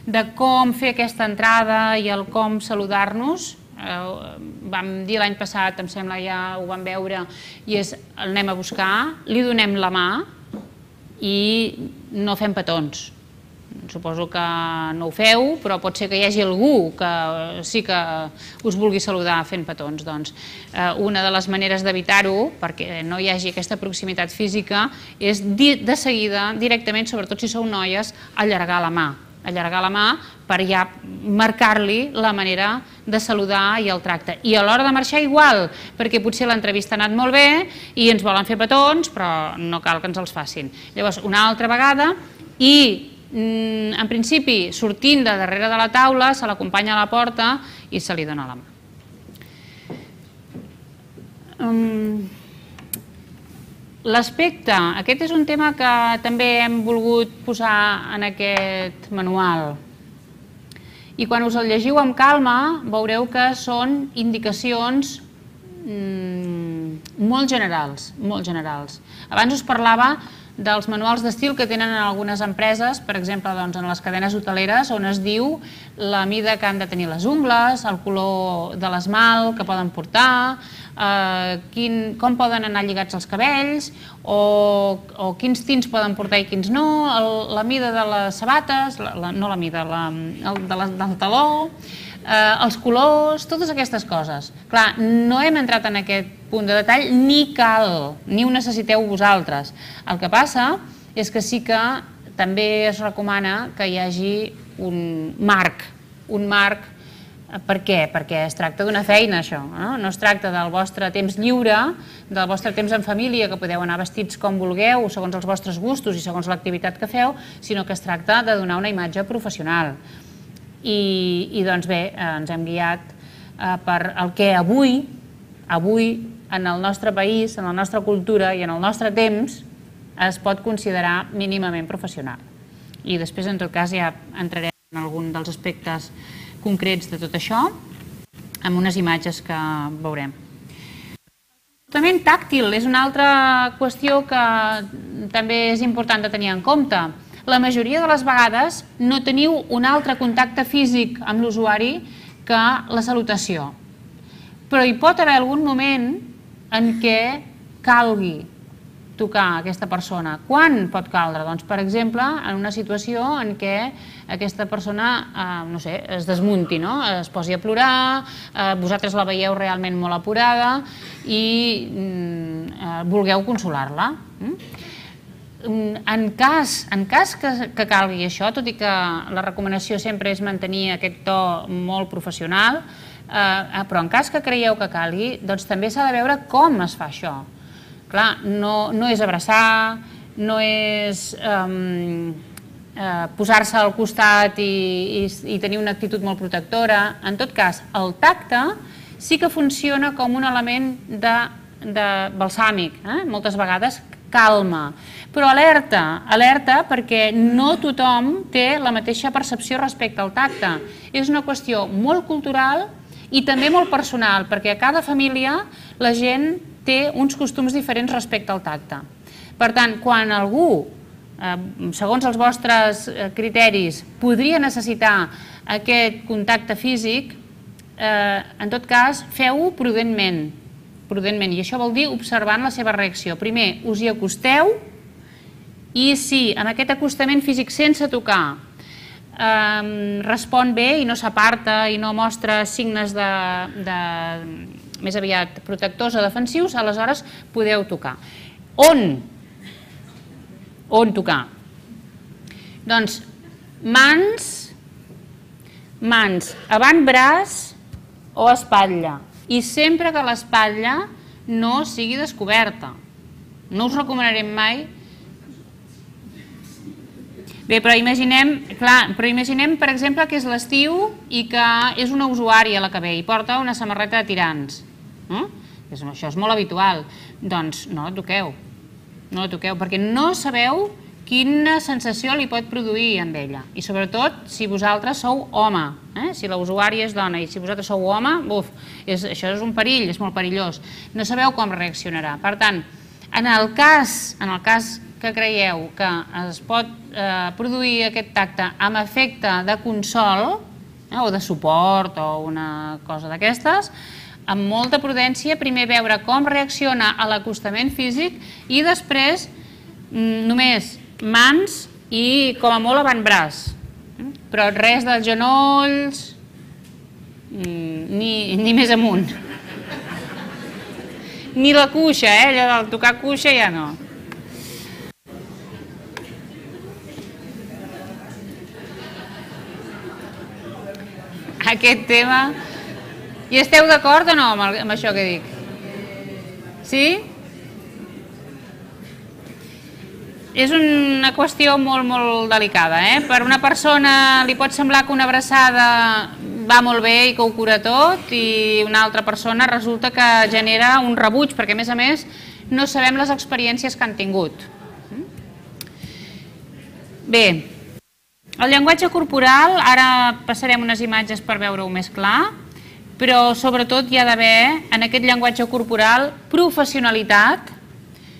de com fer aquesta entrada i el com saludar-nos. Vam dir l'any passat, em sembla ja ho vam veure, i és el anem a buscar, li donem la mà i no fem petons. Suposo que no ho feu, però pot ser que hi hagi algú que sí que us vulgui saludar fent petons. Doncs una de les maneres d'evitar-ho, perquè no hi hagi aquesta proximitat física, és de seguida, directament, sobretot si sou noies, allargar la mà. Allargar la mà per ja marcar-li la manera de saludar i el tracte. I a l'hora de marxar igual, perquè potser l'entrevista ha anat molt bé i ens volen fer petons, però no cal que ens els facin. Llavors, una altra vegada, i en principi, sortint de darrere de la taula, se l'acompanya a la porta i se li dona la mà. L'aspecte, aquest és un tema que també hem volgut posar en aquest manual. I quan us el llegiu amb calma, veureu que són indicacions molt generals, molt generals. Abans us parlava dels manuals d'estil que tenen en algunes empreses, per exemple en les cadenes hoteleres, on es diu la mida que han de tenir les ungles, el color de l'esmalt que poden portar, com poden anar lligats els cabells, o quins tints poden portar i quins no, la mida de les sabates, no la mida, del taló, els colors, totes aquestes coses. Clar, no hem entrat en aquest punt de detall, ni cal, ni ho necessiteu vosaltres. El que passa és que sí que també es recomana que hi hagi un marc. Per què? Perquè es tracta d'una feina, això. No es tracta del vostre temps lliure, del vostre temps en família, que podeu anar vestits com vulgueu, segons els vostres gustos i segons l'activitat que feu, sinó que es tracta de donar una imatge professional. I doncs bé, ens hem guiat per el que avui, en el nostre país, en la nostra cultura i en el nostre temps, es pot considerar mínimament professional. I després, en tot cas, ja entrarem en algun dels aspectes concrets de tot això, amb unes imatges que veurem. El comportament tàctil és una altra qüestió que també és important de tenir en compte. La majoria de les vegades no teniu un altre contacte físic amb l'usuari que la salutació. Però hi pot haver algun moment en què calgui tocar aquesta persona. Quan pot caldre? Doncs, per exemple, en una situació en què aquesta persona, no sé, es desmunti, es posi a plorar, vosaltres la veieu realment molt apurada i vulgueu consolar-la. En cas que calgui això, tot i que la recomanació sempre és mantenir aquest to molt professional, però en cas que creieu que calgui, doncs també s'ha de veure com es fa això. Clar, no és abraçar, no és posar-se al costat i tenir una actitud molt protectora. En tot cas, el tacte sí que funciona com un element balsàmic, moltes vegades calma. Però alerta perquè no tothom té la mateixa percepció respecte al tacte. És una qüestió molt cultural i també molt personal, perquè a cada família la gent té uns costums diferents respecte al tacte. Per tant, quan algú, segons els vostres criteris, podria necessitar aquest contacte físic, en tot cas, feu-ho prudentment, i això vol dir observant la seva reacció. Primer, us hi acosteu i si amb aquest acostament físic sense tocar respon bé i no s'aparta i no mostra signes més aviat protectors o defensius, aleshores podeu tocar. On tocar? Doncs mans, avantbraç o espatlla. I sempre que l'espatlla no sigui descoberta. No us recomanarem mai. Bé, però imaginem, per exemple, que és l'estiu i que és una usuària la que ve i porta una samarreta de tirants. Això és molt habitual. Doncs no la toqueu, perquè no sabeu quina sensació li pot produir amb ella. I sobretot si vosaltres sou home, si la usuària és dona i si vosaltres sou home, això és un perill, és molt perillós. No sabeu com reaccionarà. Per tant, en el cas que creieu que es pot produir aquest tacte amb efecte de consol o de suport o una cosa d'aquestes, amb molta prudència, primer veure com reacciona a l'acostament físic i després només mans i com a molt avantbraç, però res dels genolls ni més amunt, ni la cuixa, allò del tocar cuixa ja no. Aquest tema, i esteu d'acord o no amb això que dic? Sí? És una qüestió molt, molt delicada. Per una persona li pot semblar que una abraçada va molt bé i que ho cura tot i una altra persona resulta que genera un rebuig perquè, a més, no sabem les experiències que han tingut. Bé, el llenguatge corporal, ara passarem unes imatges per veure-ho més clar, però sobretot hi ha d'haver en aquest llenguatge corporal professionalitat,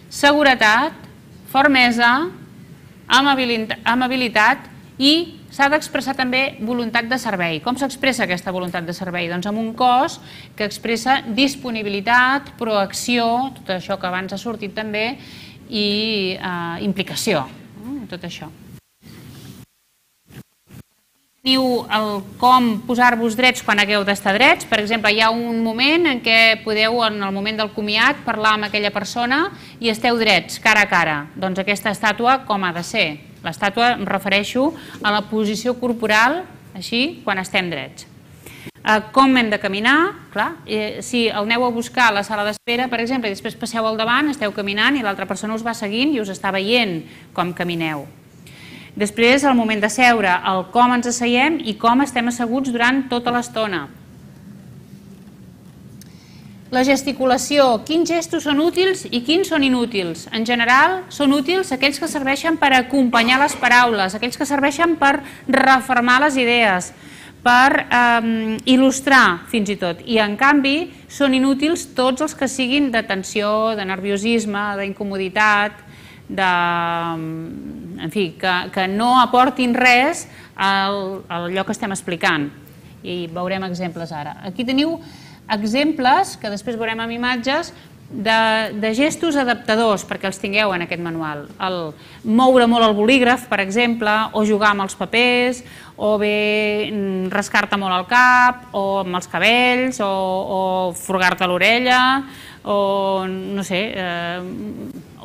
seguretat, fermesa, amabilitat i s'ha d'expressar també voluntat de servei. Com s'expressa aquesta voluntat de servei? Doncs amb un cos que expressa disponibilitat, proacció, tot això que abans ha sortit també, i implicació, tot això. Teniu el com posar-vos drets quan hagueu d'estar drets. Per exemple, hi ha un moment en què podeu, en el moment del comiat, parlar amb aquella persona i esteu drets, cara a cara. Doncs aquesta estàtua com ha de ser? L'estàtua em refereixo a la posició corporal, així, quan estem drets. Com hem de caminar? Clar, si el aneu a buscar a la sala d'espera, per exemple, i després passeu al davant, esteu caminant i l'altra persona us va seguint i us està veient com camineu. Després, al moment de seure, el com ens asseiem i com estem asseguts durant tota l'estona. La gesticulació, quins gestos són útils i quins són inútils? En general, són útils aquells que serveixen per acompanyar les paraules, aquells que serveixen per refermar les idees, per il·lustrar fins i tot. I, en canvi, són inútils tots els que siguin de tensió, de nerviosisme, d'incomoditat, en fi, que no aportin res a allò que estem explicant. I veurem exemples ara. Aquí teniu exemples, que després veurem amb imatges, de gestos adaptadors, perquè els tingueu en aquest manual. El moure molt el bolígraf, per exemple, o jugar amb els papers, o bé rascar-te molt el cap, o amb els cabells, o furgar-te l'orella, o no sé,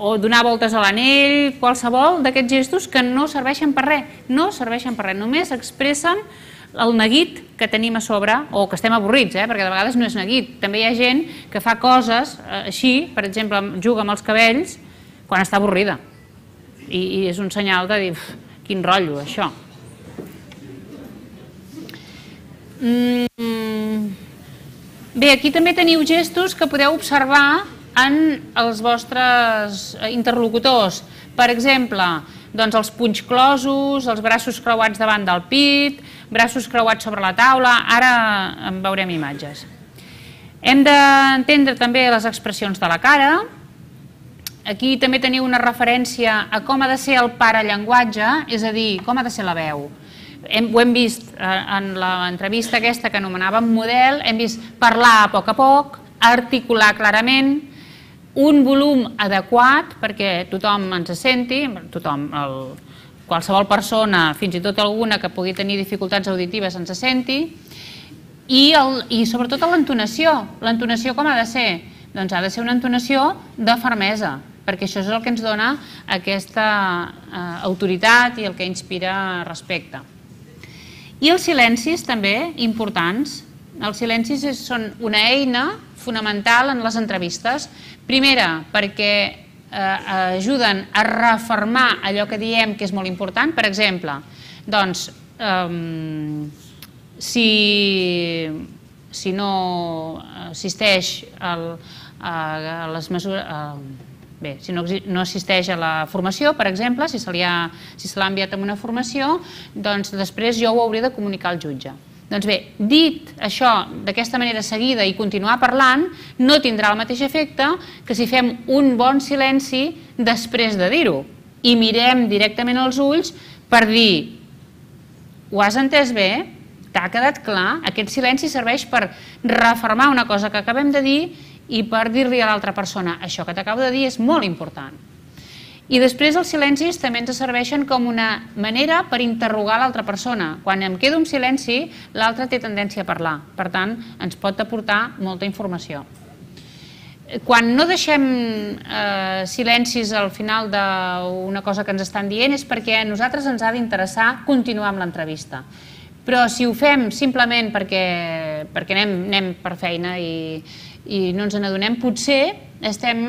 o donar voltes a l'anell, qualsevol d'aquests gestos que no serveixen per res, només expressen el neguit que tenim a sobre, o que estem avorrits, perquè de vegades no és neguit. També hi ha gent que fa coses així, per exemple, juga amb els cabells quan està avorrida. I és un senyal de dir, quin rotllo, això. Bé, aquí també teniu gestos que podeu observar en els vostres interlocutors. Per exemple, doncs els punys closos, els braços creuats davant del pit, braços creuats sobre la taula, ara en veurem imatges. Hem d'entendre també les expressions de la cara. Aquí també teniu una referència a com ha de ser el parallenguatge, és a dir, com ha de ser la veu. Ho hem vist en l'entrevista aquesta que anomenàvem model, hem vist parlar a poc, articular clarament, un volum adequat perquè tothom ens senti, qualsevol persona, fins i tot alguna que pugui tenir dificultats auditives ens senti, i sobretot l'entonació. L'entonació com ha de ser? Doncs ha de ser una entonació de fermesa, perquè això és el que ens dona aquesta autoritat i el que inspira respecte. I els silencis també importants. Els silencis són una eina fonamental en les entrevistes. Primera, perquè ajuden a refermar allò que diem que és molt important. Per exemple, doncs, si no assisteix a les mesures... Bé, si no assisteix a la formació, per exemple, si se l'ha enviat amb una formació, doncs després jo ho hauré de comunicar al jutge. Doncs bé, dit això d'aquesta manera seguida i continuar parlant, no tindrà el mateix efecte que si fem un bon silenci després de dir-ho i mirem directament als ulls per dir: ho has entès bé? T'ha quedat clar? Aquest silenci serveix per refermar una cosa que acabem de dir i per dir-li a l'altra persona: això que t'acabo de dir és molt important. I després els silencis també ens serveixen com una manera per interrogar l'altra persona. Quan em quedo en silenci, l'altre té tendència a parlar. Per tant, ens pot aportar molta informació. Quan no deixem silencis al final d'una cosa que ens estan dient és perquè a nosaltres ens ha d'interessar continuar amb l'entrevista. Però si ho fem simplement perquè anem per feina i no ens n'adonem, potser estem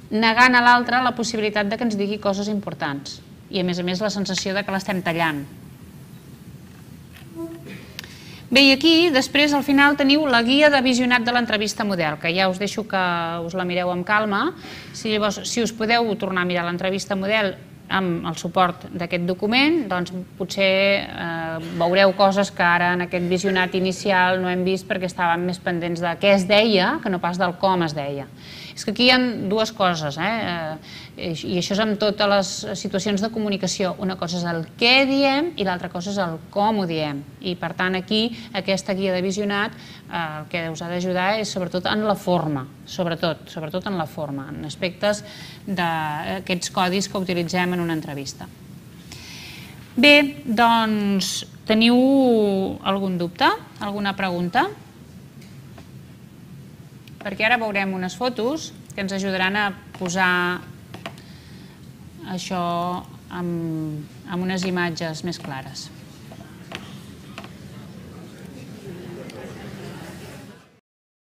negant a l'altre la possibilitat que ens digui coses importants i a més la sensació que l'estem tallant. Bé, i aquí després al final teniu la guia de visionat de l'entrevista model, que ja us deixo que us la mireu amb calma. Si us podeu tornar a mirar l'entrevista model amb el suport d'aquest document, doncs potser veureu coses que ara en aquest visionat inicial no hem vist perquè estàvem més pendents de què es deia que no pas del com es deia. És que aquí hi ha dues coses, i això és amb totes les situacions de comunicació. Una cosa és el què diem i l'altra cosa és el com ho diem. I per tant aquí aquesta guia de visionat el que us ha d'ajudar és sobretot en la forma, sobretot en la forma, en aspectes d'aquests codis que utilitzem en una entrevista. Bé, doncs teniu algun dubte? Alguna pregunta? Perquè ara veurem unes fotos que ens ajudaran a posar això amb unes imatges més clares.